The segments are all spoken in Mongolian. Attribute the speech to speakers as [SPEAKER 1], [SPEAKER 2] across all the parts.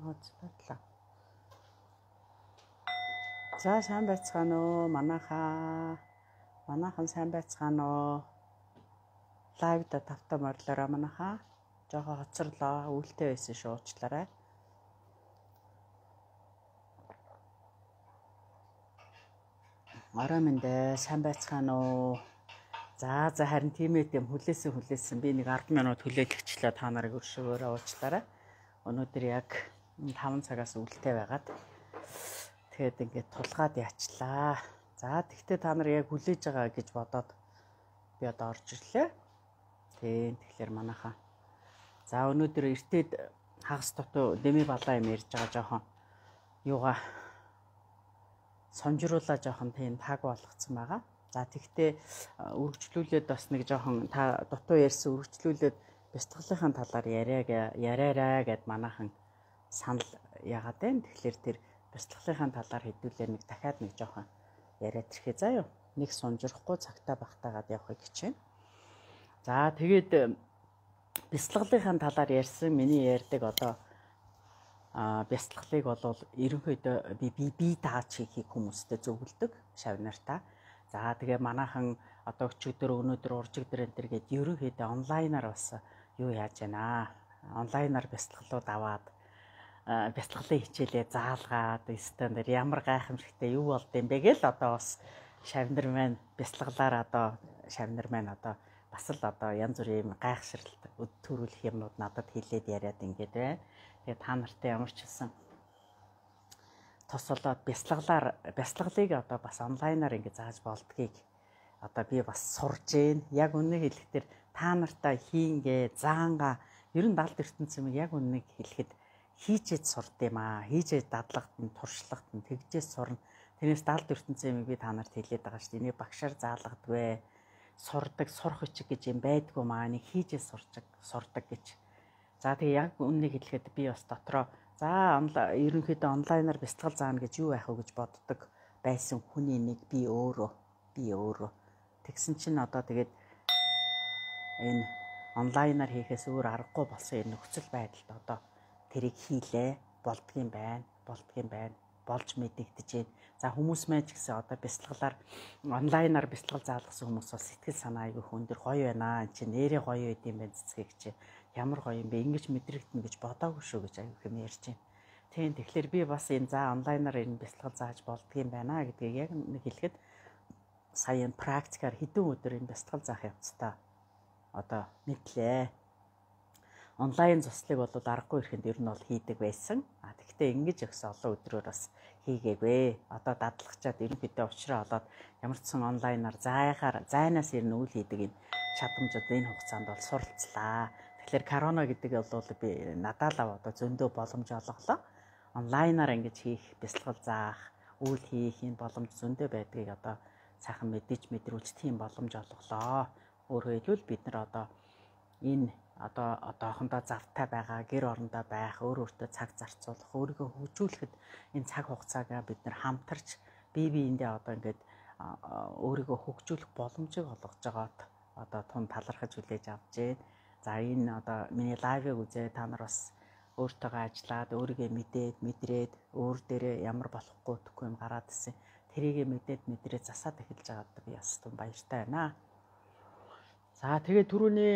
[SPEAKER 1] Хоцлоо. За сайн байцгаана уу манайхан сайн байцгаана уу. Лайвда тавтаа морлороо манайхаа жоо хоцорлоо үүлтэй байсан шуучлаарай. Орой мэндэ сайн байцгаана уу. За харин тиймээ юм хүлээсэн би нэг 10 минут хүлээлгчлээ та нарыг өршөөгөөрөө уучлаарай. Өнөөдөр яг 5 цагаас үүлтэй байгаад тэгээд ингээд тулгаад яачлаа. За тэгтээ та нар яг хүлээж байгаа гэж бодоод би одоо орж ирлээ. Тэгэхээр манайхаа. За өнөөдөр эртээд хагас дутуу дэми балаа юм ярьж байгаа жоохон юугаа сонжруулаа жоохон тийм таг болгоцсон байгаа. За тэгтээ үргэлжлүүлээд бас нэг жоохон та дутуу ярьсан үргэлжлүүлээд бяцлаглалын талаар яриараа гэд манайхан санал яагаад вэ? Тэгэхээр тэр бяцлаглалын талаар хэдүүлээ нэг дахиад нэг жоохон яриад ирэхээ заа юу. Нэг сунжрахгүй цагтаа багтаагаад явахыг хичээнэ. За тэгээд бяцлаглалын талаар ярьсан миний ярьдаг одоо бяцлаглалыг бол ерөнхийдөө би тааж хийхийг хүмүүстэй зөвлөдөг шавнартаа. За тэгээ манайхан одоо өчигдөр өнөөдөр уржигдөр энэ төр гээд ерөнхийдөө онлайнаар бас юу яаж байна. Онлайнаар бяцлаглууд аваад бяцлаглалын хичээлээ заалгаад стандарт ямар гайхамшигтай юу болд юм бэ гэл одоо бас шавнар маань бяцлаглаар одоо шавнар маань одоо бас л одоо янз бүрийн гайхшралт төрүүлэх юмнууд надад хэлээд яриад ингээд байна. Тэгээ та нартай ямар ч хэлсэн тосолоод бяцлаглалыг одоо бас онлайнаар ингээд зааж болдгийг одоо би бас сурж гээ. Яг үннийг хэлэхдээ та нартай хийнгээ заанга ер нь далд ертөнцийн яг үннийг хэлэхэд хийжээд сурд юм аа. Хийжээд дадлагт нь туршлагт нь тэгжээ сурна. Тэрнээс далд ертөнцийн би та нарт хэлээд байгаа шүү дээ. Энийг багшаар заалгадгүй. Сурдаг, сурах хүчиг гэж юм байдгүй маа. Энийг хийжээ сурдаг гэж. За тэгээ яг үннийг хэлэхэд би бас дотроо за ерөнхийдөө онлайнаар бяцлал заана гэж юу байх вэ гэж боддог байсан хүний нэг би өөрөө. Тэгсэн чинь одоо тэгээд энэ онлайнаар хийхээс өөр аргагүй болсон энэ нөхцөл байдалд одоо тэрийг хийлээ болдгийм байна. Болж мэдэгдэж байна. За хүмүүс маань ч гэсэн одоо бяцлаглаар онлайнаар бяцлал заалгасан хүмүүс бас сэтгэл санаа айгүй өндөр гоё байна. Энд чинь нэрээ гоё байд юм байна цэцгийг чи ямар гоё юм бэ? Ингэж мэдрэгдэнэ гэж бодоагүй шүү гэж айгүй хэм ярьж байна. Тийм тэгэхээр би бас энэ за онлайнаар энэ бяцлал зааж болдгийм байна гэдгийг яг нэг хэлэхэд сая практикаар хэдэн өдөр энэ бяцлал заах явцдаа одоо мэдлээ. Онлайн заслыг бол аргагүй ирэхэд ер нь бол хийдэг байсан. Тэгвэл ингэж өгсөн олон өдрөөр бас хийгээгүй. Одоо дадлагчаад ерөнхийдөө уучраа олоод ямар ч сан онлайнаар зайнаас ирнэ үйл хийдэг энэ чадамжууд энэ хугацаанд бол суралцлаа. Тэгэхээр корона гэдэг бол би надад одоо зөндөө боломж олголоо. Онлайнаар ингэж хийх, бяцлал заах, үйл хийх энэ боломж зөндөө байдгийг одоо сайхан мэдрүүлж тийм боломж олголоо. Өөрөөр хэлбэл бид нар одоо энэ одоохондоо завтай байгаа, гэр орондоо байх, өөртөө цаг зарцуулах, өөрийгөө хөгжүүлэхэд энэ цаг хугацааг бид нар хамтарч биендээ одоо ингээд өөрийгөө хөгжүүлэх боломжийг олгож байгаад одоо тун талархаж хүлээж авч байна. За энэ одоо миний лайвыг үзээ та нар бас өөртөөгөө ажиллаад, өөрийгөө мэдрээд, өөр дээрээ ямар болохгүй юм гараад ирсэн. Тэрийгэ мэдрээд засаад эхэлж байгаад би бас тун баяртай байна. За тэгээ түрүүний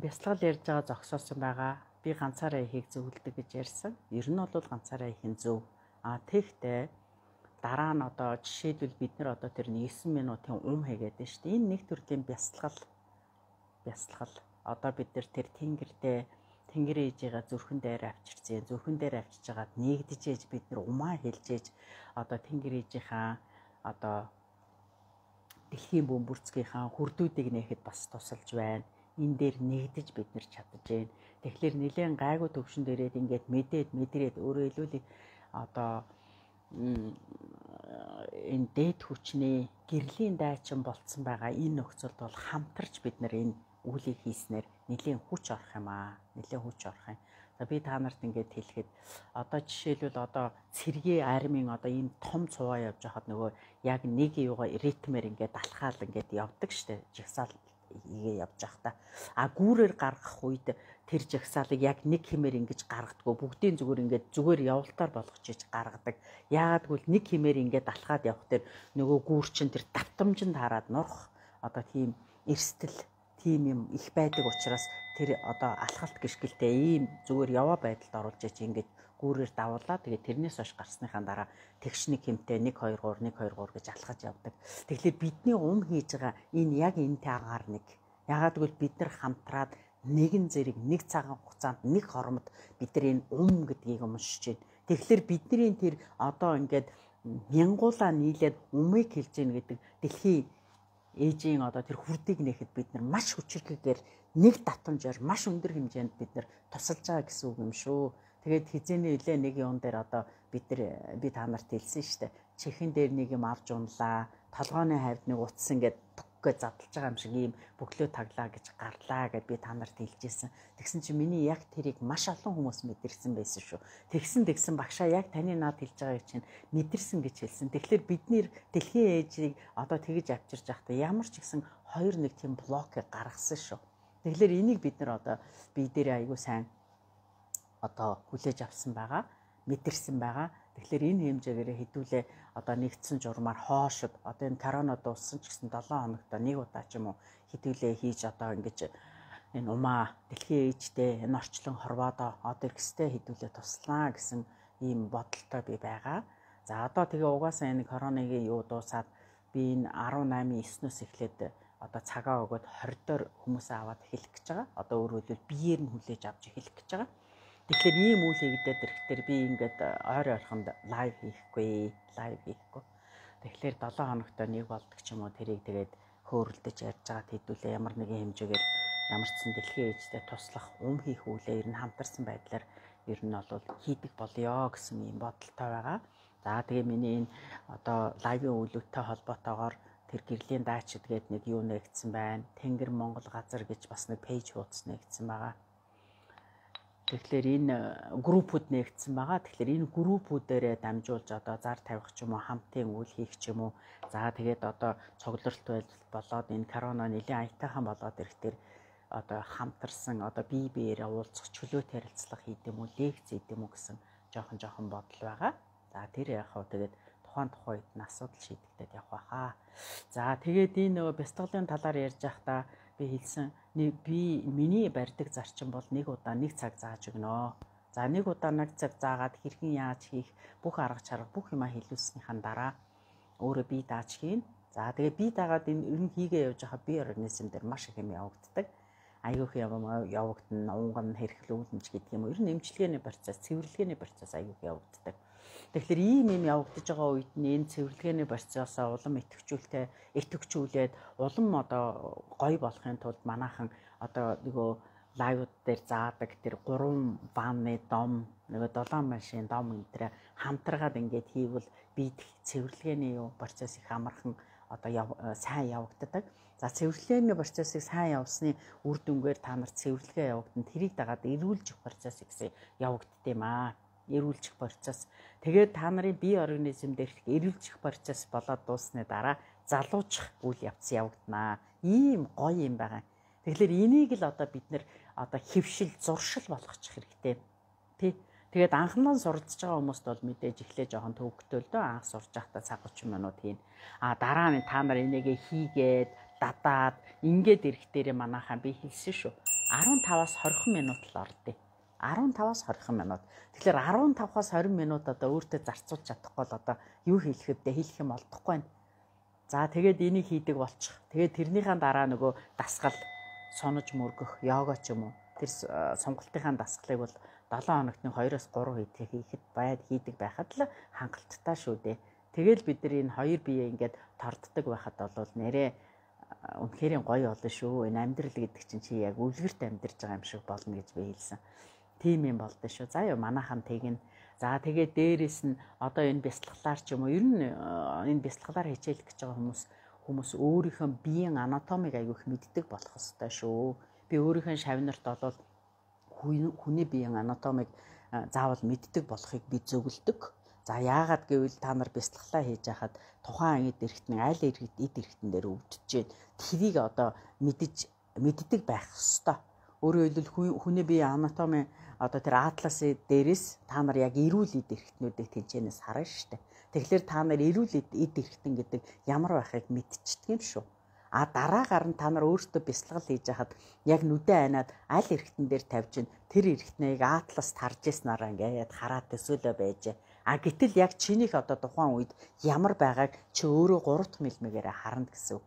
[SPEAKER 1] бяцлал ярьж байгаа зогсоосон байгаа. Би ганцаараа ихийг зөвлөдөг гэж ярьсан. Ер нь бол ганцаараа их нь зөв. Тэгтээ дараа нь одоо жишээлбэл бид нар одоо тэр 9 минутын хийгээд байна шүү дээ. Энэ нэг төрлийн бяцлал. Одоо бид нар тэр тэнгэр ээжигээ зүрхэн дээр авчирсан. Зүрхэн дээр авчиж байгаад нэгдэж ээж бид нар умаа хэлж ээж одоо тэнгэр ээжийнхаа одоо дэлхийн бөмбөрцгийнхаа хүрдүүдийг нээхэд бас тусалж байна. Энэ дээр нэгдэж бид нар чадж байна. Тэгэхээр нэлээд гайгүй төвшин дээрээд ингээд мэдрээд өөрөө хэлүүлээ одоо энэ дээд хүчний гэрлийн дайчин болцсон байгаа энэ нөхцөлд бол хамтарч бид нар энэ үүлийг хийснээр нэлээд хүч орох юм аа. За би та нарт ингээд хэлэхэд одоо жишээлбэл одоо цэргийн армийн одоо ийм том цуваа явж байхад нөгөө яг нэг юугаа ритмээр ингээд алхаал ингээд явдаг штэ. Жигсаал хийгээ явж байхдаа гүүрээр гаргах үед тэр жагсаалыг яг нэг хэмээр ингэж гаргадаггүй бүгдийн зүгээр явалтаар болгочиж гаргадаг. Яагаад гэвэл нэг хэмээр ингэж алхаад явах тэр нөгөө гүүр чин тэр давтамжинд хараад нурах одоо тийм эрсдэл тийм юм их байдаг учраас тэр одоо алхалт гიშгэлтэй ийм зүгээр яваа байдалд оруулж ич ингэж гүүрээр давуулаа. Тэгээд тэрнээс хойш гарсныхаа дараа тэгш нэг хэмтэй 1 2 3 1 2 3 гэж алхаж явдаг. Тэгэхээр бидний хийж байгаа энэ яг энэтэй агаар нэг. Яагаад гэвэл бид нар хамтраад нэгэн зэрэг нэг цагаан хугацаанд нэг хормод бид нар энэ гэдгийг уншиж байна. Тэгэхээр бидний тэр одоо ингээд мянгуулаа нийлээд умыг хэлж гин гэдэг дэлхийн ээжийн одоо тэр хүрдийг нэхэд бид нар маш хүчрхгээр нэг татамжаар маш өндөр хэмжээнд бид нар тусалж байгаа гэсэн үг юм шүү. Тэгээд хизээний үлээ нэг юм дээр одоо би та нарт хэлсэн шүү дээ. Чихэн дээр нэг юм авч унлаа. Толгойн хавьд нэг утас ингээд түггээ задлж байгаа юм шиг ийм бөглөө таглаа гэж гарлаа гэд би та нарт хэлжсэн. Тэгсэн чинь миний яг тэрийг маш олон хүмүүс мэдэрсэн байсан шүү. Тэгсэн багшаа яг таны наад хэлж байгааг чинь мэдэрсэн гэж хэлсэн. Тэгэхээр бид нэр дэлхийн ээжийг одоо тэгж авчирж байхдаа ямар ч гэсэн 2-1 тийм блокыг гаргасан шүү. Тэгэхээр энийг бид нар одоо бие дээр айгүй сайн одоо хүлээж авсан байгаа, мэдэрсэн байгаа. Тэгэхээр энэ хэмжээгээр хэдүүлээ одоо нэгдсэн журмаар хоошод одоо энэ корона дууссан ч гэсэн 7 хоногт нэг удаа ч юм уу хэдүүлээ хийж одоо ингэж энэ умаа дэлхийн ээжтэй энэ орчлон хорвоодоо одоо ихстэй хэдүүлээ туслаа гэсэн ийм бодолтой би байгаа. За одоо тэгээ угаасаа энэ коронагийн юу дуусаад би энэ 18/9-өөс эхлээд одоо цагаа өгөөд 20 доор хүмүүсээ аваад эхлэх гэж байгаа. Одоо өөрөөр хэлбэл биеэр нь хүлээж авч эхлэх гэж байгаа. Тэгэхээр ийм үйл хийгдээд ирэхээр би ингээд ойрхон лайв хийхгүй. Тэгэхээр 7 хоногт нэг болдог ч юм уу тэрийг тэгээд хөөрөлдөж ярьж байгаа хэдүүлээ ямар нэгэн хэмжээгээр ямар ч сан дэлхийн ээжтэй туслах хийх үйлээ ер нь хамтарсан байдлаар ер нь бол хийдэг болёо гэсэн юм бодолтой байгаа. За тэгээ миний энэ одоо лайвын үйлүүдтэй холбоотойгоор тэр гэрлийн даачид гээд нэг юу нэгдсэн байна. Тэнгэр Монгол газар гэж бас нэг пэйж хуудас нэгдсэн байгаа. Тэгэхээр энэ группүүд нэгдсэн байгаа. Тэгэхээр энэ группүүдээрээ дамжуулж одоо зар тавих ч юм уу, хамтын үйл хийх ч юм уу. За тэгээд одоо цугларалт болоод энэ корона нэлийн аятайхан болоод ирэхээр одоо хамтарсан одоо бие биеэрээ уулзах, чөлөөт ярилцлага хийдэм үү, лекц хийдэм үү гэсэн жоохон бодол байгаа. За тэр яг хаа тэгээд тухайн үед нь асуудал шийдэгдээд явах байхаа. За тэгээд энэ нөгөө бяцлаглалын талаар ярьж байхдаа би хэлсэн миний барьдаг зарчим бол нэг удаа нэг цаг зааж өгнө. За нэг удаа нэг цаг заагаад хэрхэн яаж хийх бүх арга чарга бүх юма хэлүүлснийхэн дараа өөрөө би дааж хийн. За тэгээ би дагаад энэ ер нь хийгээ явж байхад би организм дээр маш их юм явагддаг. Аюух юм явагдана, унган хэрхлүүлэмж гэдэг юм. Ер нь эмчилгээний процесс, цэвэрлэгээний процесс аюух явагддаг. Тэгэхээр ийм явагдаж байгаа үед нь энэ цэвэрлэгээний процессоо улам идэвхжүүлээд улам одоо гоё болохын тулд манайхан одоо нөгөө лайвууд дээр заадаг тэр 3 ванны дом, нөгөө 7 машин дом энтрэ хамтаргаад ингээд хийвэл бид цэвэрлэгээний процесс их амархан одоо сайн явагддаг. За цэвэрлэгээний процессыг сайн явуулсны үр дүнгээр та нарт цэвэрлэгээ явагдана. Тэрийг дагаад эрүүлжих процесс гэсэн явагддаг юм аа. Эрүүлжих процесс. Тэгээд та нарын бие организм дээрх эрүүлжих процесс болоод дуусны дараа залуучих үйл явц явагдана. Ийм гоё юм байгаа. Тэгэхээр энийг л одоо бид нэр одоо хөвшил, зуршил болгочих хэрэгтэй. Тэ. Тэгээд анхнаа суралцж байгаа хүмүүст бол мэдээж эхлээ жоохон төвөгтэй л дөө анх сурж байхдаа цаг 30 минут хийн. Дараа нь та нар энийгээ хийгээд дадаад ингээд ирэх дээрээ манайхаа би хэлсэн шүү. 15-аас 20 минут л ордё. 15-аас 20 минут. Тэгэхээр 15-аас 20 минут одоо өөртөө зарцуулж чадахгүй бол одоо юу хийх вэ? Хэлэх юм олдохгүй байна. За тэгээд энийг хийдэг болчих. Тэгээд тэрнийхээ дараа нөгөө дасгал сонож мөргөх, йога ч юм уу. Тэр сонголтынхаа дасгалыг бол 7 хоногт 2-оос 3 хийдэг байхад л хангалттай шүү дээ. Тэгэл бид нар энэ хоёр бие ингээд торддог байхад бол нэрээ үнэхээр гоё болно шүү. Энэ амьдрал гэдэг чинь чи яг үлгэрт амьдарч байгаа юм шиг болно гэж би хэлсэн. Тийм юм болдоо шүү. За ёо манайхан тэгнэ. За тэгээд дээрэс нь одоо энэ бяцлаглаар ч юм уу ер нь энэ бяцлаглаар хичээлэх гэж байгаа хүмүүс өөрийнхөө биеийн анатомиг аяг их мэддэг болох ёстой шүү. Би өөрийнхөө шавнарт бол хүний биеийн анатомиг заавал мэддэг болохыг би зөвлөдөг. За яагаад гэвэл та нар бяцлаглаа хийж байхад тухайн эд эрхтэн аль эд эрхтэн дээр өвдөж जैन. Тэрийг одоо мэддэг байх ёстой. Өөрөөр хэлбэл хүний биеийн анатоми одоо тэр атласын дээрээс та нар яг эрүүл эд эрхтнүүдийг тэнцэнээс харна шүү дээ. Тэгэхээр та нар эрүүл эд эрхтэн гэдэг ямар байхыг мэдчихдэг юм шүү. А дараагаар нь та нар өөртөө бяцлал хийж байхад яг нүдэ айнаад аль эрхтэн дээр тавьж ин тэр эрхтнийг атласт харж яснараа ингээд хараад төсөөлөө байж. А гэтэл яг чинийх одоо тухайн үед ямар байгааг чи өөрөө 3 дахь мэлмэгээр харна гэсэн үг.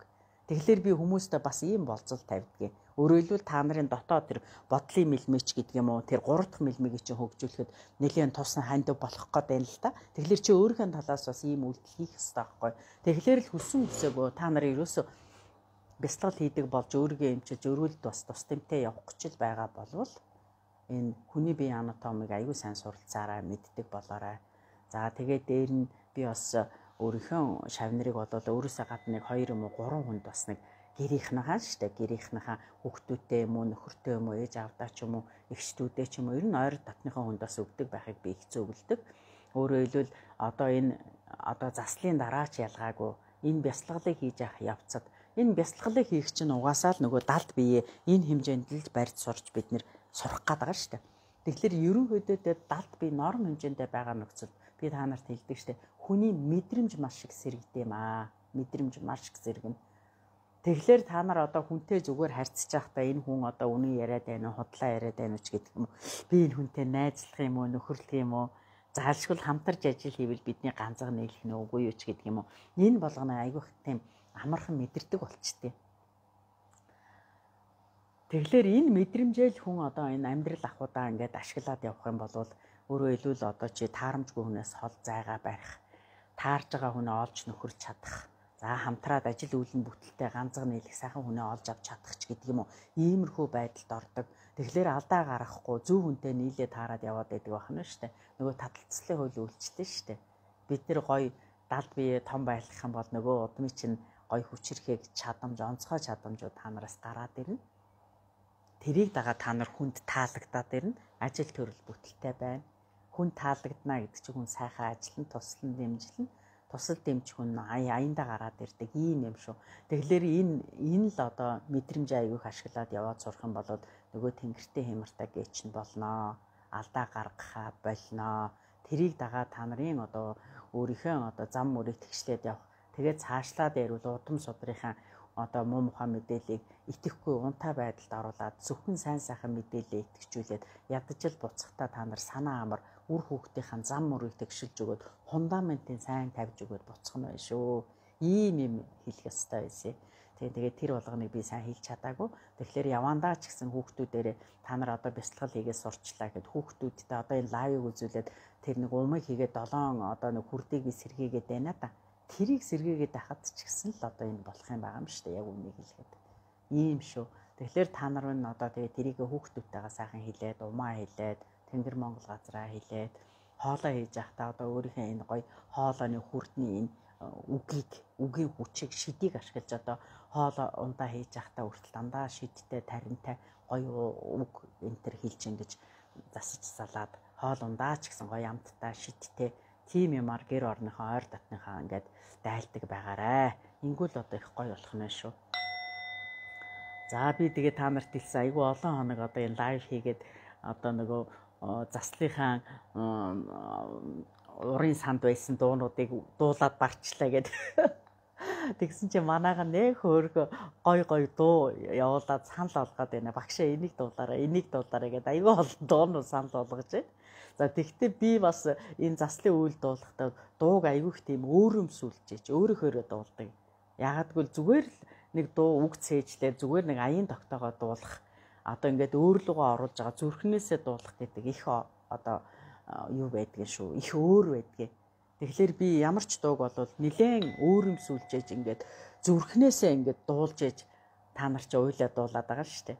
[SPEAKER 1] Тэгэхээр би хүмүүстээ бас ийм болцол тавьдгийг. Өөрөөр хэлбэл та нарын дотоод тэр бодлын мэлмэч гэдэг юм уу тэр 3 дахь мэлмэгийг чинь хөгжүүлэхэд нэлээд тусна ханд болох гээд байна л та. Тэгэхээр чи өөрийнхөө талаас бас ийм үйлдэл хийх хэрэгтэй байхгүй. Тэгэхээр л хүссэн үсээгөө та нар ерөөсөө бяцлал хийдэг болж өөрийгөө эмчилж өрөөлд бас тус тэмтэй явах гэж байгаа болвол энэ хүний биеийн анатомиг аюул сайн суралцаараа мэддэг болоорой. За тэгээд дээр нь би бас өөрийнхөө шавнарыг бодоод өөрөөсөө гадна 2 юм уу 3 хүнд бас нэг гэрийнхнийхаа штэ гэрийнхнийхаа хүүхдүүдтэй юм уу нөхөртэй юм уу ээж аавдаа ч юм уу эгчтүүдээ ч юм уу ер нь ойр татныхаа хүнд бас өгдөг байхыг би их зөвлөдөг. Өөрөөр хэлбэл одоо энэ одоо заслын дараа ч ялгаагүй энэ бяцлаглыг хийж явах явцад энэ бяцлаглыг хийх чинь угаасаа л нөгөө далд бие энэ хэмжээнд л барьж сурч бид нэр сурах гээд байгаа штэ. Тэгэхээр ерөнхийдөө далд бие норм хэмжээндээ байгаа нөхцөл би та нарт хэлдэг штэ. Хүний мэдрэмж маш их сэргдэм аа. Мэдрэмж маш их сэргэнэ. Тэгэхээр та нар одоо хүнтэй зүгээр харьцаж байхдаа энэ хүн одоо үнэн яриад байна уу, худлаа яриад байна уу ч гэдэг юм уу. Би энэ хүнтэй найзлах юм уу, нөхөрлөх юм уу? Заалшгүй хамтарч ажил хийвэл бидний ганцхан нийлэх нь үгүй юу ч гэдэг юм уу. Энэ болгоно айгүйх тийм амархан мэдэрдэг болчтой. Тэгэхээр энэ мэдрэмжэл хүн одоо энэ амьдрал ахуйдаа ингээд ашиглаад явах юм бол өөрөө илүү одоо чи таарамжгүй хүнээс хол зайгаа барих, таарж байгаа хүнээ олж нөхөрч чадах, за хамтраад ажил үйлэн бүтэлтэй ганцхан нийлэх сайхан хүнээ олж авч чадах ч гэдэг юм уу. Иймэрхүү байдалд ордог. Тэгэхээр алдаа гаргахгүй зөв хүнтэй нийлээ таарад яваад байдаг байна шүү дээ. Нөгөө таталцлын хууль үйлчлээ шүү дээ. Бид нэр гоё далд бие том байлгах юм бол нөгөө удмын чинь гоё хүчрэхийг чадамж, онцгой чадамжууд та нараас гараад ирнэ. Тэрийг дагаад та нар хүнд таалагдаад ирнэ. Ажил төрөл бүтэлтэй байна. Хүн таалагдана гэдэг чинь хүн сайхан ажиллана, туслан дэмжлэн, тусал дэмжих хүн аяндаа гараад ирдэг ийм юм шүү. Тэгэхээр энэ л одоо мэдрэмж аяг их ашиглаад яваад сурах юм бол нөгөө тэнгэртэй хямртай гээч нь болноо. Алдаа гаргахаа болно. Тэрийг дагаад та нарын одоо өөрийнхөө одоо зам мөрийг тэгшлээд явах. Тэгээд цаашлаад ярил удам судрынхаа одоо муу мухай мэдээллийг итгэхгүй унтаа байдалд оруулаад зөвхөн сайн сайхан мэдээлэл итгэжүүлээд ядчил буцахтаа та нар санаа амар үр хүүхдийн зам мөрийг тэгшилж өгөөд фундаментын сайн тавьж өгөөд буцах нь байна шүү. Ийм юм хэлэх ёстой байсан. Тэгээд тэр болгоныг би сайн хэлж чадаагүй. Тэгэхээр явандаа ч гэсэн хүүхдүүдээрээ та нар одоо бяцлал хийгээд сурчлаа гэхэд хүүхдүүдтэй одоо энэ лайвыг үзүүлээд тэр нэг умыг хийгээд 7 одоо нэг хүрдийг би сэргийгээд байна да. Тэрийг сэргээгээд байхад ч гэсэн л одоо энэ болох юм байгаа юм шүү дээ. Яг үнийг хэлгээд. Ийм шүү. Тэгэхээр та нар нь одоо тэгээ тэрийг хүүхдүүдтэйгээ сайхан хэлээд, умаа хэлээд, Тэнгэр Монгол газраа хэлээд, хоолоо хийж явахдаа одоо өөрийнхөө энэ гоё хоолойны хүрдний энэ үгийн хүчийг шидийг ашиглаж одоо хоолоо ундаа хийж явахдаа хүртэл дандаа шидтэй, таринтай гоё үг энэ төр хэлж ингэж засаж салаад хоол ундаа ч гэсэн гоё амттай, шидтэй тийм юмар гэр орныхоо ойр татныхаа ингээд дайлдаг байгаарэ. Ингүүл одоо их гоё болох нь шүү. За би тэгээ та нарт хэлсэн айгүй олон хоног одоо энэ лайв хийгээд одоо нөгөө заслынхаа урын санд байсан дуунуудыг дуулаад барчлаа гэд. Тэгсэн чинь манайхан нэг хөөргө гой дуу явуулаад санал олгоод байна. Багшаа энийг дуулаарай гэдээ айгүй олон дуунууд санал болгож байна. За тэгвэл би бас энэ заслын үйл дуулахдаа дууг айгүйх тийм өөрөмсүүлж өөрөөхөөрөө дуулдаг. Ягагтгүй зүгээр л нэг дуу үг цээжлээ зүгээр нэг аян тогтоогоо дуулах. Одоо ингээд өөрлөгөө оруулж байгаа зүрхнээсээ дуулах гэдэг их одоо юу байдгийг шүү. Их өөр байдгийг. Тэгэхээр би ямар ч дууг болвол нилээн өөрөмсүүлж ингээд зүрхнээсээ ингээд дуулж та нар ч уйлаа дуулаад байгаа шүү дээ.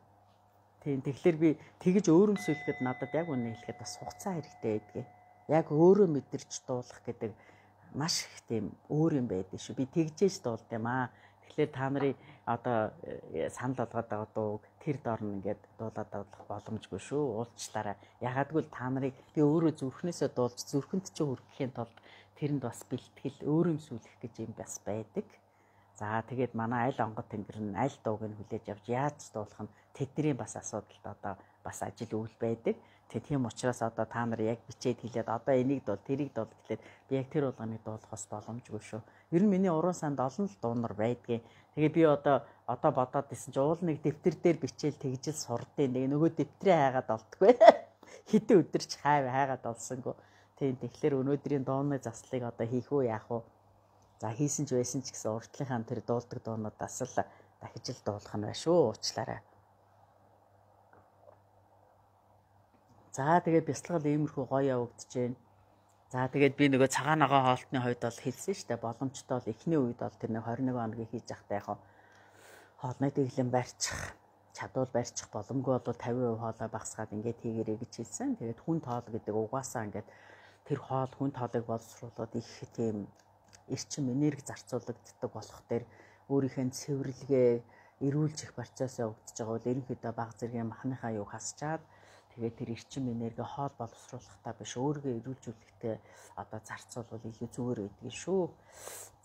[SPEAKER 1] Тийм тэгэхээр би тэгж өөрөмсүүлэхэд надад яг үнэ хэлэхэд бас хугацаа хэрэгтэй байдгийг. Яг өөрөө мэдэрч дуулах гэдэг маш их тийм өөр юм байдаг шүү. Би тэгжээж дуулд юм аа. Тэгэхээр та нарын одоо санал болгоод байгаа дууг тэр дор нь ингээд дуулаад авах боломжгүй шүү. Уулзчлаарай. Ягагтгүй та нарыг би өөрөө зүрхнээсээ дуулж зүрхэнд чи хүргэхийн тулд тэрэнд бас бэлтгэл өөр юм сүлэх гэж юм бас байдаг. За тэгээд манай аль онгод тэнгэр нь аль дууг нь хүлээж авч яаж дуулах нь тэдний бас асуудалд одоо бас ажил үйл байдаг. Тийм учраас одоо та нар яг бичээд хэлээд одоо энийг дуул тэрийг дуул гэхлээр би яг тэр болгоныг дуулахаас боломжгүй шүү. Ер нь миний уран санд олон л дуунар байдгийн. Тэгээ би одоо бодоод исэн чи уул нэг дэвтэр дээр бичээл тэгжил сурдیں۔ Нэг нөгөө дэвтрээ хайгаад олдгүй. Хэдэн өдөрч хайгаад олсонгүй. Тийм тэгэхээр өнөөдрийн дууны заслыг одоо хийх үү яах вэ? За хийсэн ч байсан ч гэсэн уртлынхаа тэр дуулдаг дуунуудаас л дахиж л дуулах нь байна шүү. Уучлаарай. За тэгээд бяцлал иймэрхүү гоё явагдаж байна. За тэгээд би нөгөө цагаан ногоо хоолтны хувьд бол хэлсэн шүү дээ. Боломжтой бол эхний үед бол тэр нэг 21 хоногийн хийж явахдаа яг хоолны дэглэм барьчих, чадвал барьчих боломгүй бол 50% хоолой багасгаад ингээд хийгэрэй гэж хэлсэн. Тэгээд хүн тоол гэдэг угаасаа ингээд тэр хоол хүн тоолыг боловсруулаад их тийм эрчим энерги зарцуулагддаг болох дээр өөрийнхөө цэвэрлэгээ эрүүлж их процесс явагдаж байгаа бол ерөнхийдөө баг зэргийн махныхаа юг хасчаад тэгээд тэр эрчим энерги хоол боловсруулахтаа биш өөрийгөө эрүүлжүүлэхдээ одоо зарцуулбал илүү зүгээр байдгийг шүү.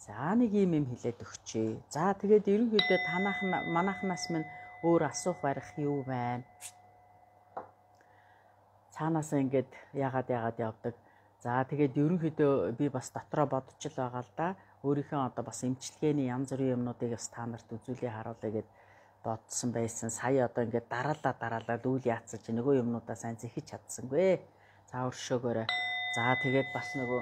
[SPEAKER 1] За нэг юм хэлээд өгчээ. За тэгээд ерөнхийдөө манайхнаас минь өөр асуух барих юу байна? Цаанаас ингээд яагаад явдаг. За тэгээд ерөнхийдөө би бас дотроо бодож л байгаа л да. Өөрийнхөө одоо бас эмчилгээний янз бүрийн юмнуудыг бас та нарт үзүүлээ харуулъя гэд бодсон байсан. Сая одоо ингээд дараалал үйл яатсан чи нөгөө юмнуудаа сайн зэхэж чадсангүй. За өршөөгөөрэй. За тэгээд бас нөгөө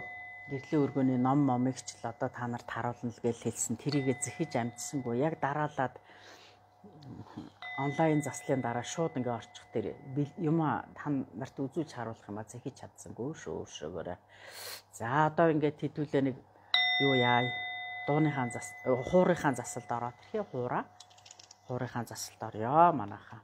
[SPEAKER 1] гэрлийн өргөний ном момыг ч л одоо та нарт харуулна л гэж хэлсэн. Тэрийгэ зэхэж амжсангүй. Яг дараалаад онлайн заслын дараа шууд ингээ орчих тэр юм та нарт үзүүлж харуулах юм а зэхэж чадсангүй шүү. Өршөөгөөрэй. За одоо ингээд хэдүүлээ нэг юу яа дууныхаа хуурынхаа засалд ороод тэрхий хуурынхаа засалд орё манайхаа.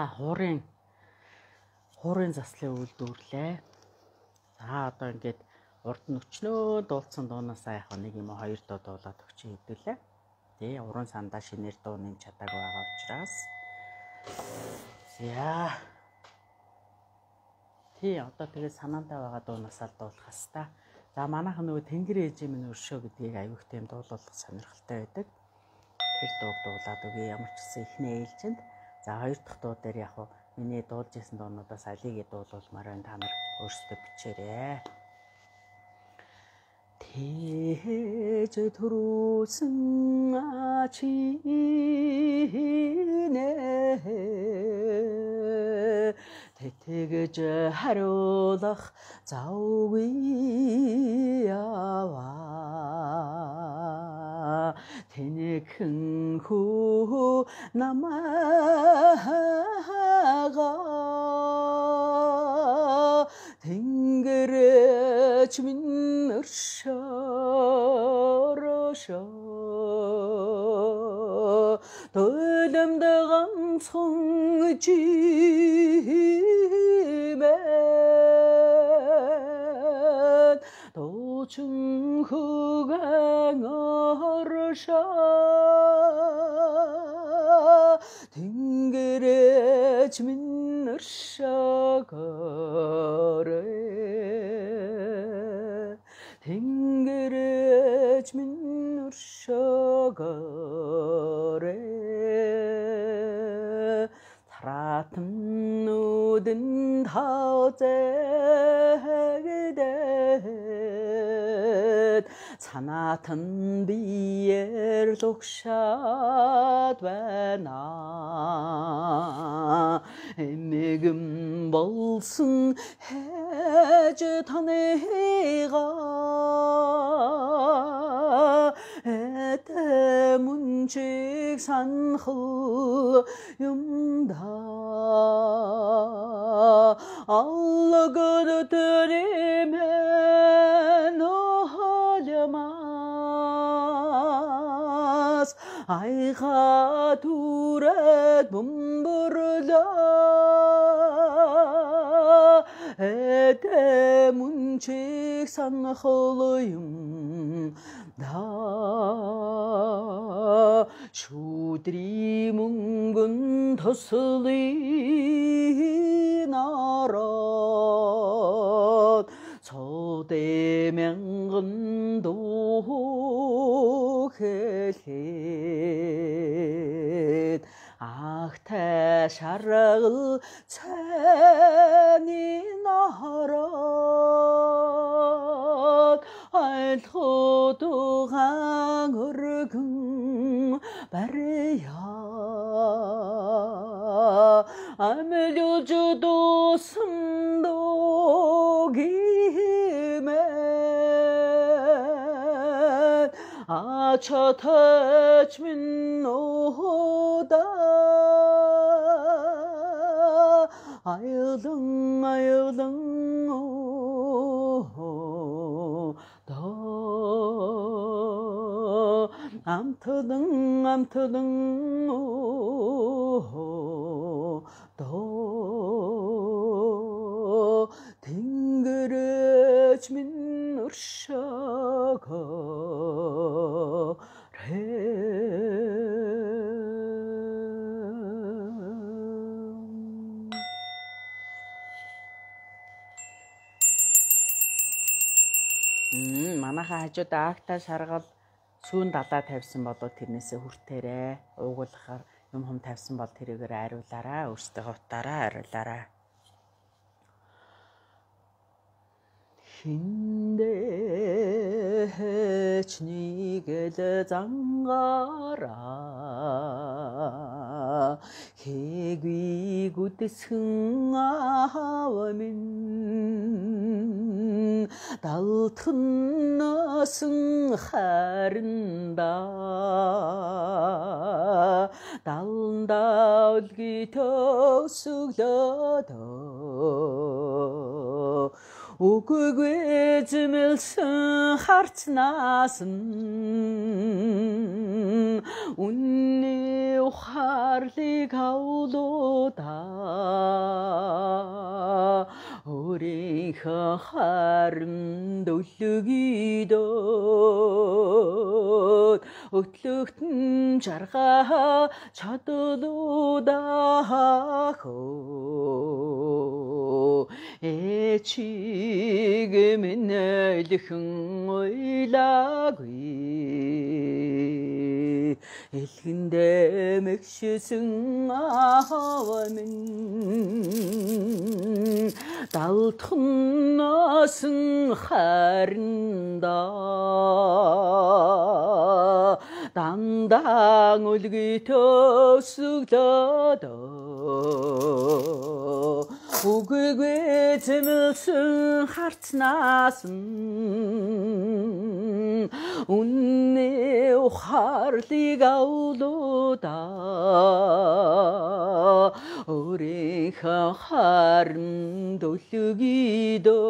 [SPEAKER 1] За хуурын заслын үйлдвэрлэлээ. За одоо ингээд урд нь өчнөө дуулсан дуунасаа яг нэг юм 2 дуу дуулаад өгч хэвдүүлээ. Тэ уран сандаа шинээр дуу нэмж чадаагүй байгаа учраас. За. Тий одоо тэгээд санаандаа байгаа дуунасаа дуулах хэвээр. За манайхан нөгөө Тэнгэр ээжээ минь өршөө гэдгийг аюух тийм дуулуулах сонирхолтой байдаг. Тэр дууг дуулаад өгье. Ямар ч гэсэн эхний ээлжинд. За 2 дахь дуу дээр яг миний дуулж исэн дуунуудаас алийг дуулуулмаар байна. Та нар өөрсдөө бичээрэй. Тээж төрүүлсэн ачинэ тэтгэж хариулах завгүй яваа тэнэхэн хүү намаага тэнгэрэж минь өршөөрөшөө төлөмд ганцхан жимэн дуучин хөгөн оршоо тэнгэрэж минь өршөөгөөрэй тэнгэрэж минь өршөөгөөрэй таратан нүдэн таозэгдэд санаатан биер лукшаад байна эмэгэн болсон хэж таныга этэй мунчиг санхал юмда аллагад төримен олямас айга турет бумбурла этэй мунчиг санхал юмда шүдри мөнгөн төслий народ цо대 мянган дуу хэлээд ахтай шаргал цайны народ айлхуудугаан өргөн барья амэлж дууссан догимэн ачатач минь ода аялдан амтдан тэнгэрэж минь өршөөгөөрэй манайхаа хажууд агта шаргал сүүн далаа тавьсан болоо тэрнээсээ хүртээрээ уугуулахаар юм хум тавьсан бол тэрийгээр ариулаарай өөрсдөө хавтаараа ариулаарай хиндэж нэгэл зангаараа хэгүй гүдэсхэн аав минь далтхан насан харинда даланда үлги төсөглөдөө үгүйгүй зэмэлсэн харцнаас үнний ухаарлыг авлуудаа өөрийнхөө хармд өлгийдөө өтлөгтөн жаргаа чадлуудаа хөө чиг минэлхэн ойлаагүй элхэндээ мэгшсэн аав минь далтхан носон харандаа дандаа үлгий төсөглөөд үгүй зэмэлсэн харцнаас үнний ухаарлыг авлуудаа өөрийнхөө хармд өлгийдөө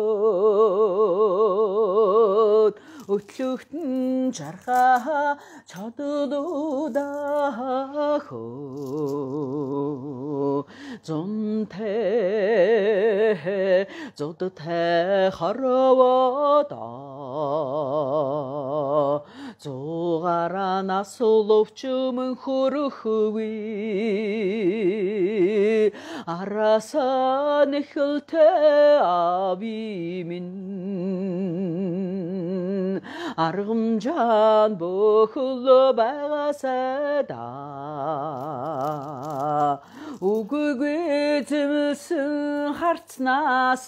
[SPEAKER 1] өтлөгтөн жаргаа чадлуудаа хөө зонтэй зодтой харавада зугаараа насуловчмөн хөрөхгүй араасаа нэхэлтэй ави минь аргамжаан бөхөл байгаасай да үгүй зэмэлсэн харцнаас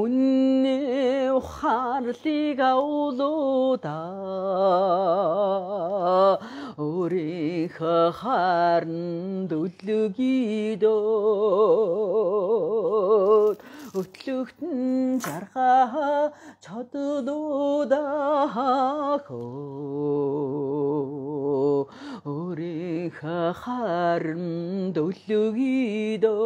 [SPEAKER 1] үнний ухаарлыг авлуудаа өөрийнхөө харнд өлгийдөө өтлөгтөн жаргаа чадлуудаа хөө өөрийнхөө харнд өлгийдөө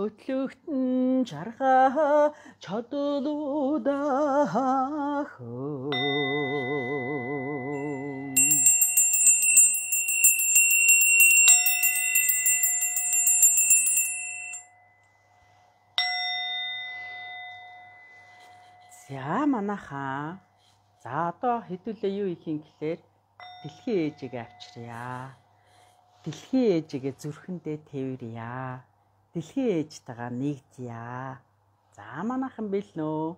[SPEAKER 1] өтлөгтөн жаргаа чадлуудаа хөө За манайхаа одоо хэдүүлээ юу их юм гэхээр дэлхийн ээжигээ авчиръя. Дэлхийн ээжигээ зүрхэндээ тэрвэрья. Дэлхийн ээжтэйгээ нэгдъя. За манайхан бэлнэ үү?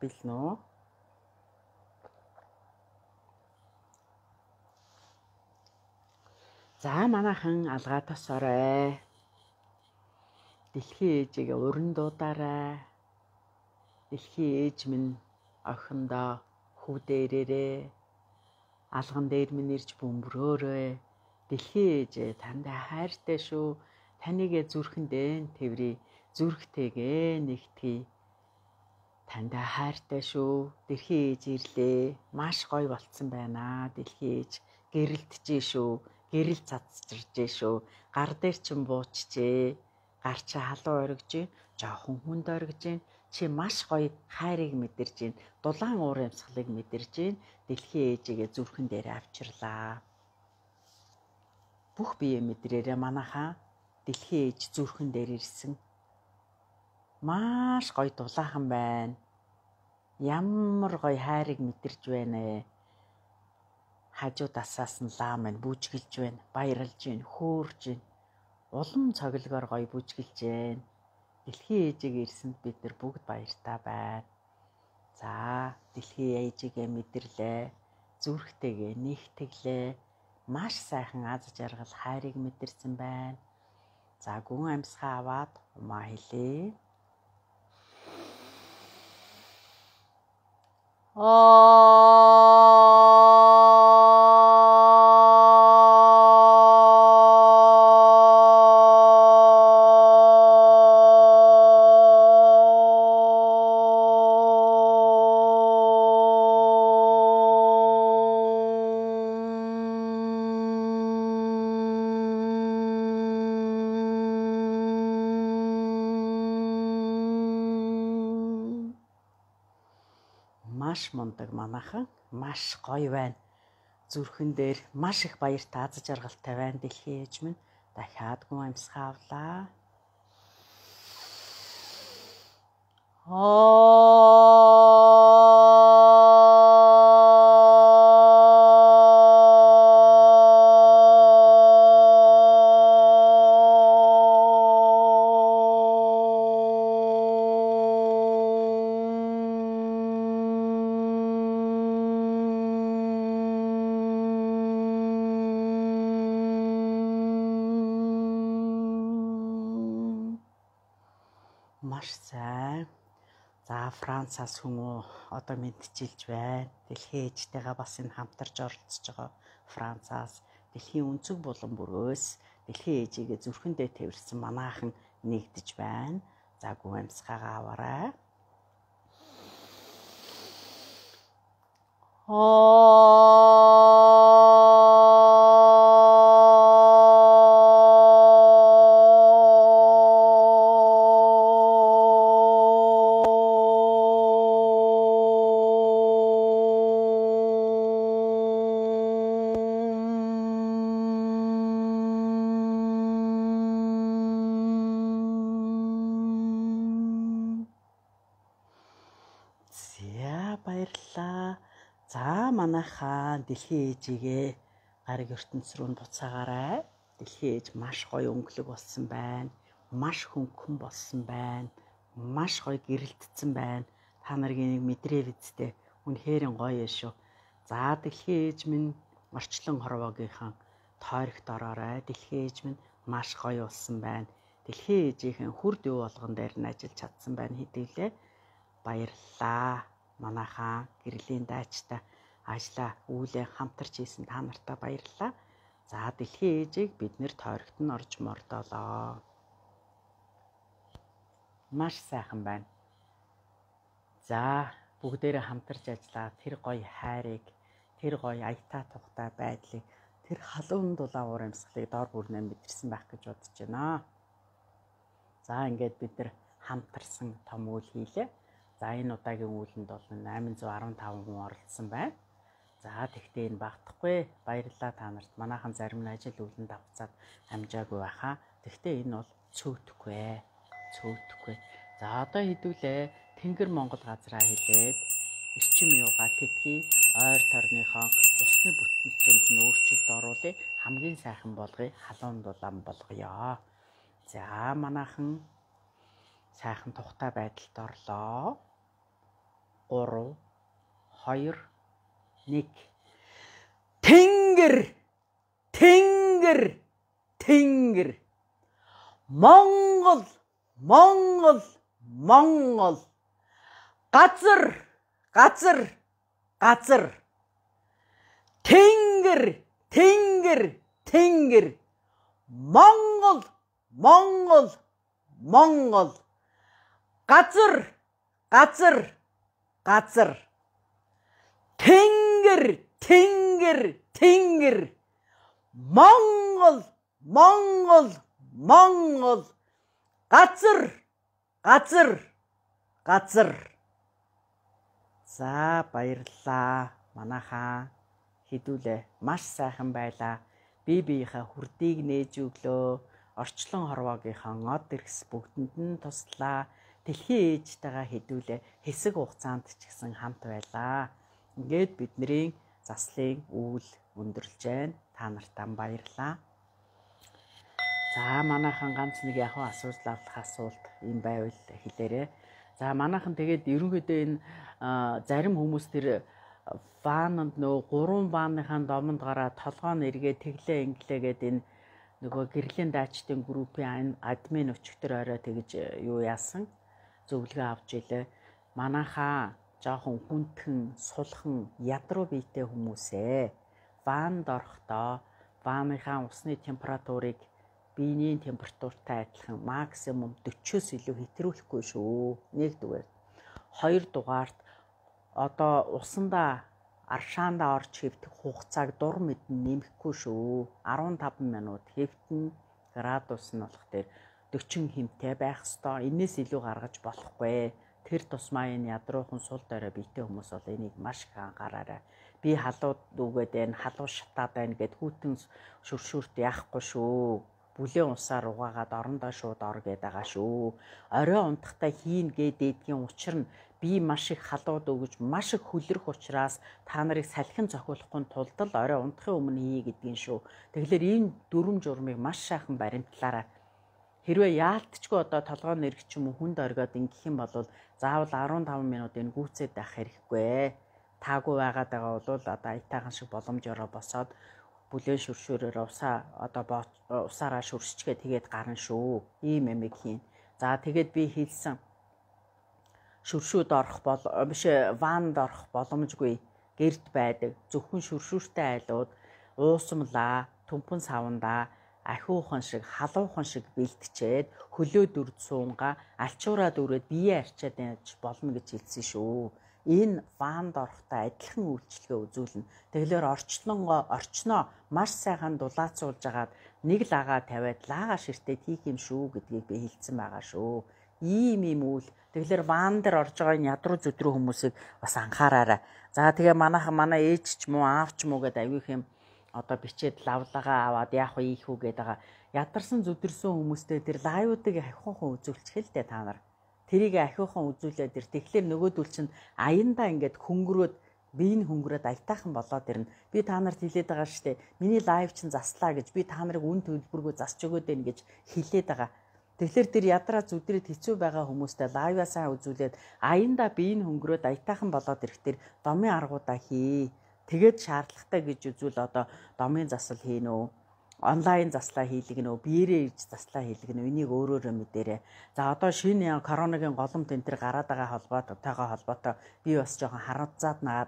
[SPEAKER 1] Бэлнэ үү? За манайхан алгаа тосоорой. Дэлхийн ээжигээ уран дуудаарай. Дэлхийн ээж минь охиндоо хүүдээрээ алган дээр минь ирж бөмбөрөөрөө дэлхийн ээж тандаа хайртай шүү. Таныг зүрхэндээ тэрвэрий. Зүрхтэйгээ нэгтгэе. Тандаа хайртай шүү. Дэлхийн ээж ирлээ. Маш гоё болцсон байна. Дэлхийн ээж гэрэлтжээ шүү. Гэрэл цацчиржээ шүү. Гар дээр чин буучжээ. Гар чи халуун оргиж, жоохон хүнд оргиж. Чи маш гоё хайрыг мэдэрж байна. Дулаан уур амьсгалыг мэдэрж байна. Дэлхийн ээжигээ зүрхэн дээр авчирлаа. Бүх бие мэдрээрээ манайхаа дэлхийн ээж зүрхэн дээр ирсэн. Маш гоё дулаахан байна. Ямар гоё хайрыг мэдэрж байна. Хажуудасаас нь лаа маань бүжгэлж байна. Баярлж байна. Хөөрж байна. Улам цоглогоор гоё бүжгэлж байна. Дэлхийн ээжигээ ирсэнд бид нар бүгд баяртай байна. За, дэлхийн ээжигээ мэдэрлээ. Зүрхтэйгээ нэгтгэлээ. Маш сайхан аз жаргал хайрыг мэдэрсэн байна. За, гүн амьсгаа аваад умаа хэлээ. Маш мундаг манайхан маш гоё байна. Зүрхэн дээр маш их баяр тааз жаргалтай байна. Дэлхийн ээж минь дахиад гүн амьсгаа авлаа. Маш сайн. За Францаас хүмүүс одоо мэдчилж байна. Дэлхийн ээжтэйгээ бас энэ хамтарч оролцож байгаа Францаас дэлхийн өнцөг булан бүрөөс дэлхийн ээжигээ зүрхэндээ тэрсэн манайхан нэгдэж байна. За гүн амьсгаагаа аваарай. Баярлалаа. За манайхаа дэлхийн ээжигээ гариг ертөнц рүү буцаагаарай. Дэлхийн ээж маш гоё өнгөлөг болсон байна. Маш хөнгөн болсон байна. Маш гоё гэрэлтсэн байна. Та нарыг мэдрээ бидтэй. Үнэхээр гоё юм шүү. За дэлхийн ээж минь орчлон хорвоогийнхан тойрогт ороорой. Дэлхийн ээж минь маш гоё болсон байна. Дэлхийн ээжийнхэн хүрд юу болгон дээр нь ажиллаж чадсан байна хэдүүлээ. Баярлалаа. Манайхаа гэрлийн дайчтай ажлаа үүлээ хамтарч хийсэн та нартаа баярлалаа. За дэлхийн ээжийг бид нэр тойрогт нь орж мордоолоо. Маш сайхан байна. За бүгдээрээ хамтарч ажиллаа. Тэр гоё хайрыг, тэр гоё аятаа тухтай байдлыг, тэр халуун дулаан уур амьсгалыг дор бүрнээ мэдэрсэн байх гэж бодож байна. За ингээд бид нар хамтарсан том үйл хийлээ. За энэ удаагийн үүлэнд бол 815 хүн оролцсон байна. За тэгтээ энэ багтахгүй. Баярлалаа та нарт. Манайхан зарим нь ажил үүлэнд авцаад амжаагүй байхаа. Тэгтээ энэ бол цөөтөхгүй. Цөөтөхгүй. За одоо хэдүүлээ Тэнгэр Монгол газраа хэлээд эрчим юугаа тэтгэе. Ойр торныхоо усны бүтэнцэнд нь өөрчлөлт оруулъя. Хамгийн сайхан болгоё. Халуун дулаан болгоё. За манайхан сайхан тухтай байдалд орлоо. 3 2 1 Тэнгэр Тэнгэр Тэнгэр Монгол Монгол Монгол газар газар газар Тэнгэр Тэнгэр Тэнгэр Монгол Монгол Монгол газар газар газар Тэнгэр Тэнгэр Тэнгэр Монгол Монгол Монгол газар газар газар. За баярлалаа. Манайхаа хэдүүлээ маш сайхан байлаа. Бие биеийнхээ хүрдийг нээж өглөө. Орчлон хорвоогийнхаа од эргэс бүгдэнд нь туслаа. Дэлхийн ээжтэйгээ хэдүүлээ хэсэг хугацаанд ч гэсэн хамт байлаа. Ингээд бидний заслын үйл өндөрлж байна. Та нартаа баярлалаа. За манайхан ганц нэг яг асуулт авах асуулт юм байвал хэлээрэй. За манайхан тэгээд ерөнхийдөө энэ зарим хүмүүс тэр ваннд нөө 3 ванныхаа домонд гараа толгоо нэргээ тэглээ инглээ гэд энэ нөгөө гэрлийн даачдын группийн админ өчигдөр орой тэгж юу яасан зөвлөгөө авч илээ. Манайхаа жоохон хүндхэн, сулхан, ядруу биетэй хүмүүсээ ванд орохдоо ванныхаа усны температурыг биений температуртай адилхан максимум 40-с илүү хэтрүүлэхгүй шүү. Нэгдүгээр. Хоёрдугаарт одоо усандаа аршаандаа орж хэвтэх хугацааг дур мэдэн нэмэхгүй шүү. 15 минут хэвтэн градус нь болох дээр 40 хэмтэй байх ёстой. Энээс илүү гаргаж болохгүй. тэр тусмаа энэ ядруухан сул дорой бийтэй хүмүүс бол энийг маш их анхаараарай. Би халууд үгээд байна, халуун шатаад байна гэд хүүтэн шүршүүрт яахгүй шүү. Бүлээн усаар угаагаад орондоо шууд ор гээд байгаа шүү. Орой унтахтаа хийн гэдээдгийн учир нь би маш их халууд өгөж маш их хүлрэх учраас та нарыг салхин зохиолохгүй тулд л орой унтахын өмнө хий гэдгийн шүү. Тэгэхээр энэ дүрм журмыг маш сайхан баримтлаарай. Хэрвээ яалтчгүй одоо толгой нэрх ч юм уу хүнд оргиод ингэх юм бол заавал 15 минут энэ гүйцээд байх хэрэггүй. Таагүй байгаад байгаа бол одоо аятайхан шиг боломжоор босоод бүлээн шүршүүрээр усаараа шүрсчгээ тэгээд гарна шүү. Ийм эмэг хийн. За тэгээд би хэлсэн шүршүүд орох ванд орох боломжгүй гэрд байдаг. Зөвхөн шүршүүртэй айлууд уусамлаа, төмпөн савандаа ахиухан шиг, халуухан шиг бэлтчээд хөлөө дүрд суунгаа алчуураад өрөөд бие арчаад яж болно гэж хэлсэн шүү. Энэ ванд орохтой адилхан үйлчлэгээ үзүүлнэ. Тэгэхээр орчноо маш сайхан дулаацуулж агаад нэг лагаа тавиад лагаа ширтээд хийх юм шүү гэдгийг би хэлсэн байгаа шүү. Ийм үйл. Тэгэхээр ван дээр орж байгаа энэ ядруу зүдрүү хүмүүсийг бас анхаараарай. За тэгээ манай ээж ч муу аав ч муу гэдэг аягүй юм одоо бичээд лавлагаа аваад яах вэ ийх үү гэдэг байгаа. Ядарсан зүдэрсэн хүмүүстэй тэр лайвуудыг ахиухан үзүүлчих л дээ та нар. Тэрийг ахиухан үзүүлээд тэр тэгэхээр нөгөөдөл чинь аяндаа ингээд хөнгөрөөд биеийн хөнгөрөөд аятайхан болоод ирнэ. Би та нарт хэлээд байгаа шүү дээ. Миний лайв чинь заслаа гэж би та нарыг үн төлбөргөө засч өгөөд байна гэж хэлээд байгаа. Тэгэхээр тэр ядраа зүдрээд хэцүү байгаа хүмүүстэй лайваа сайн үзүүлээд аяндаа биеийн хөнгөрөөд аятайхан болоод ирэхдээ домын аргуудаа хий. Тэгээд шаардлагатай гэж үзвэл одоо домын засал хийнэ үү? Онлайн заслаа хийлгэнэ үү? Биеэрээ ирж заслаа хийлгэнэ үү? Энийг өөрөөрөө мэдээрэй. За одоо шинэ коронавигийн голомт энэ төр гараад байгаа холбоотой би бас жоохон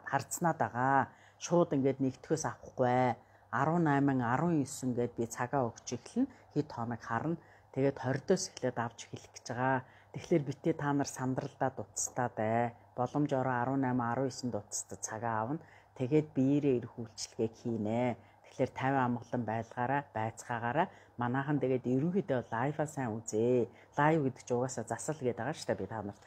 [SPEAKER 1] харцнаад байгаа. Шууд ингээд нэгтгэхээс авахгүй. 18, 19 гээд би цагаа өгч эхэлнэ. Хэд хоног харна. Тэгээд 20-оос эхлээд авч эхлэх гэж байгаа. Тэгэхээр битээ та нар сандралдаа дуцтаа бай. Боломжоор 18, 19 дуцтаа цагаа авна. Тэгээд биеэрээ ирэх үйлчлэгийг хийнэ. Тэгэхээр 50 амгалан байцгаагаараа манайхан тэгээд ерөнхийдөө лайваа сайн үзээ. Лайв гэдэг чинь угаасаа засал гэдэг байгаа шүү дээ би та нарт.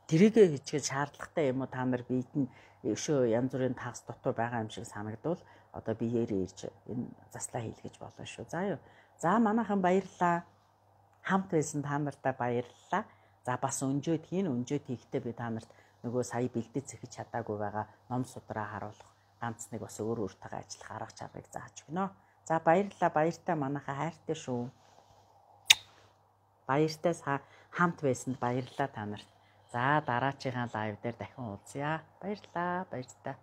[SPEAKER 1] Тэрийгэ хийчихэл шаардлагатай юм уу та нар биед нь өшөө янз бүрийн тагс дутуу байгаа юм шиг санагдвал одоо биеэрээ ирж энэ заслаа хийлгэж болно шүү. За юу. За манайхан баярлалаа. Хамт байсан та нартай баярлалаа. За бас өнжөөд хийхдээ би та нарт нөгөө сая бэлдээ зэхэж чадаагүй байгаа ном судраа харуулах ганц нэг бас өөртөөгөө ажиллах арга чаргыг зааж өгнө. За баярлалаа. Баяртай манайхаа хайртай шүү. Баяртай хамт байсанд баярлалаа та нарт. За дараачихын лайв дээр дахин уулзъя. Баярлалаа. Баяртай.